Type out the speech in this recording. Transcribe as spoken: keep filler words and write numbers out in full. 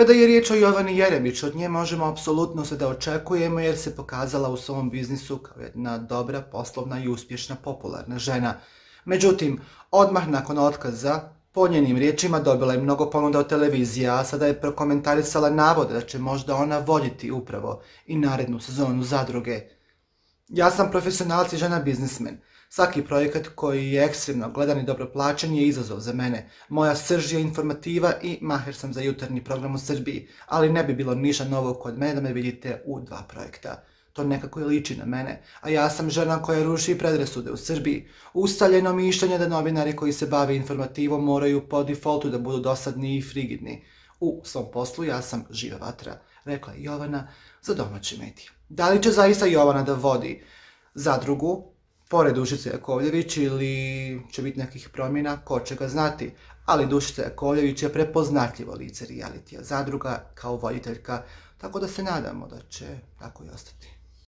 Kada je riječ o Jovani Jeremić, od nje možemo apsolutno sve da očekujemo jer se pokazala u svom biznisu kao jedna dobra, poslovna i uspješna popularna žena. Međutim, odmah nakon otkaza, po njenim riječima dobila je mnogo ponuda od televizije, a sada je prokomentarisala navode da će možda ona voditi upravo i narednu sezonu Zadruge. Ja sam profesionalac i žena biznismen. Svaki projekat koji je ekstremno gledan i dobro plaćen je izazov za mene. Moja srž je informativa i maher sam za jutarnji program u Srbiji, ali ne bi bilo ništa novo kod mene da me vidite u dva projekta. To nekako i liči na mene, a ja sam žena koja ruši predrasude u Srbiji. Ustaljeno mišljenje da novinari koji se bave informativom moraju po defaultu da budu dosadni i frigidni. U svom poslu ja sam živa vatra, rekla je Jovana za domaće medije. Da li će zaista Jovana da vodi Zadrugu pored Dušice Jakovljević ili će biti nekih promjena, ko će ga znati, ali Dušica Jakovljević je prepoznatljivo lice realitija Zadruga kao voditeljka, tako da se nadamo da će tako i ostati.